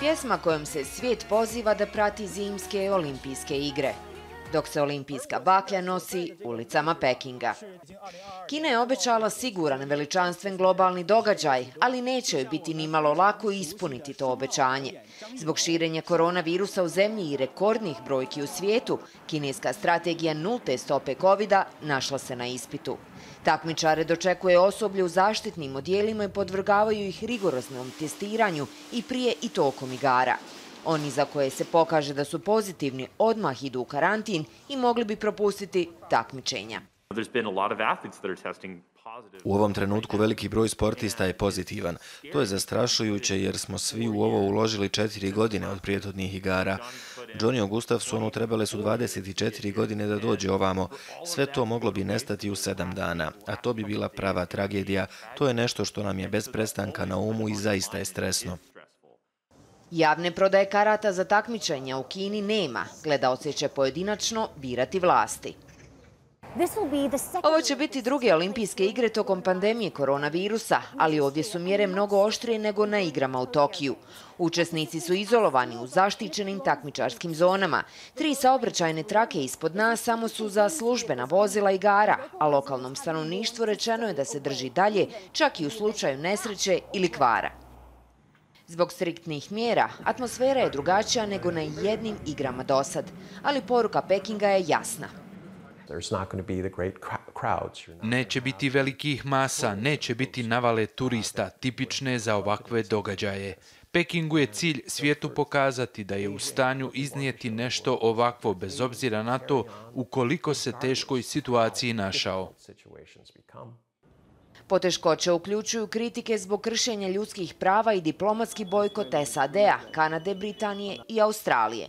Pjesma kojom se svijet poziva da prati zimske olimpijske igre, dok se olimpijska baklja nosi ulicama Pekinga. Kina je obećala siguran, veličanstven globalni događaj, ali neće joj biti nimalo lako ispuniti to obećanje. Zbog širenja koronavirusa u zemlji i rekordnih brojki u svijetu, kineska strategija nulte stope covida našla se na ispitu. Takmičare dočekuje osoblje u zaštitnim odjelima i podvrgavaju ih rigoroznom testiranju i prije i tokom igara. Oni za koje se pokaže da su pozitivni odmah idu u karantin i mogli bi propustiti takmičenja. U ovom trenutku veliki broj sportista je pozitivan. To je zastrašujuće jer smo svi u ovo uložili 4 godine od prijetodnih igara. Johnny Gustafsonu trebale su 24 godine da dođe ovamo. Sve to moglo bi nestati u 7 dana, a to bi bila prava tragedija. To je nešto što nam je bez prestanka na umu i zaista je stresno. Javne prodaje karata za takmičenja u Kini nema. Gledaoci će pojedinačno birati vlasti. Ovo će biti druge olimpijske igre tokom pandemije koronavirusa, ali ovdje su mjere mnogo oštrije nego na igrama u Tokiju. Učesnici su izolovani u zaštićenim takmičarskim zonama. 3 saobraćajne trake ispod nas samo su za službena vozila igara, a lokalnom stanovništvu rečeno je da se drži dalje, čak i u slučaju nesreće ili kvara. Zbog striktnih mjera, atmosfera je drugačija nego na jednim igrama dosad, ali poruka Pekinga je jasna. Neće biti velikih masa, neće biti navale turista, tipične za ovakve događaje. Pekingu je cilj svijetu pokazati da je u stanju iznijeti nešto ovakvo, bez obzira na to u koliko se teškoj situaciji našao. Poteškoće uključuju kritike zbog kršenja ljudskih prava i diplomatski bojkot SAD-a, Kanade, Britanije i Australije.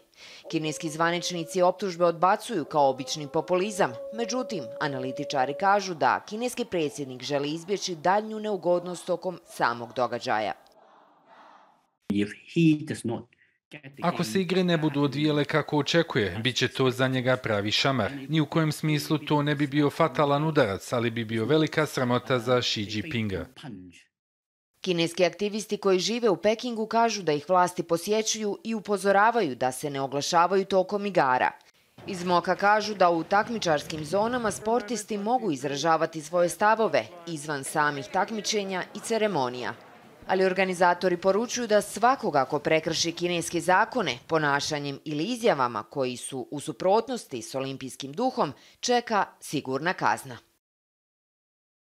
Kineski zvaničnici optužbe odbacuju kao obični populizam, međutim, analitičari kažu da kineski predsjednik želi izbjeći daljnju neugodnost tokom samog događaja. Ako se igre ne budu odvijele kako očekuje, bit će to za njega pravi šamar. Ni u kojem smislu to ne bi bio fatalan udarac, ali bi bio velika sramota za Xi Jinpinga. Kineski aktivisti koji žive u Pekingu kažu da ih vlasti posjećuju i upozoravaju da se ne oglašavaju tokom igara. Iz MOKA kažu da u takmičarskim zonama sportisti mogu izražavati svoje stavove izvan samih takmičenja i ceremonija. Ali organizatori poručuju da svakoga ko prekrši kineske zakone, ponašanjem ili izjavama koji su u suprotnosti s olimpijskim duhom, čeka sigurna kazna.